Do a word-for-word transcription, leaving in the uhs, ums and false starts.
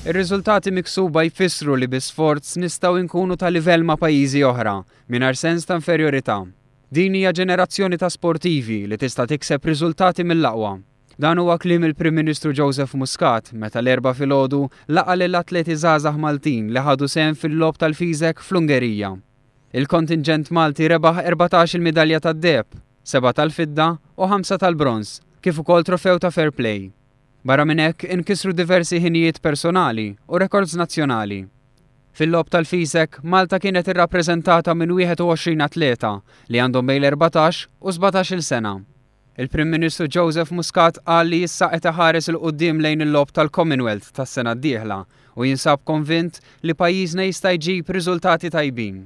Ir-riżultati miksuba jfissru li bi sforz nistgħu nkunu ta' livell ma' pajjiżi oħra mingħajr sens ta' inferjorità. Din hija ġenerazzjoni ta' sportivi li tista' tikseb riżultati mill-aqwa. Dan huwa kliem il-Prim Ministru Joseph Muscat meta l-Erbgħa filgħodu laqa' lill-atleti żgħażagħ Maltin li ħadu sehem fil-logħob tal-FISEC fl-Ungerija. Il-kontingent Malti rebaħ erbatax-il midalja tad-deheb, seba' tal-fidda u ħamsa tal-bronż, kif ukoll trofew ta' fair play. Barra minn hekk inkisru diversi ħinijiet personali u rekords nazzjonali. Fil-logħob tal-FISEC, Malta kienet irrappreżentata minn wieħed u għoxrin atleta li għandhom bejn l-erbatax u sbatax-il sena. Il-Prim Ministru Joseph Muscat qal li issa qed iħares 'il quddiem lejn il-logħob tal-Commonwealth tas-sena d-dieħla u jinsab konvint li pajjiżna jista' jġib riżultati tajbin.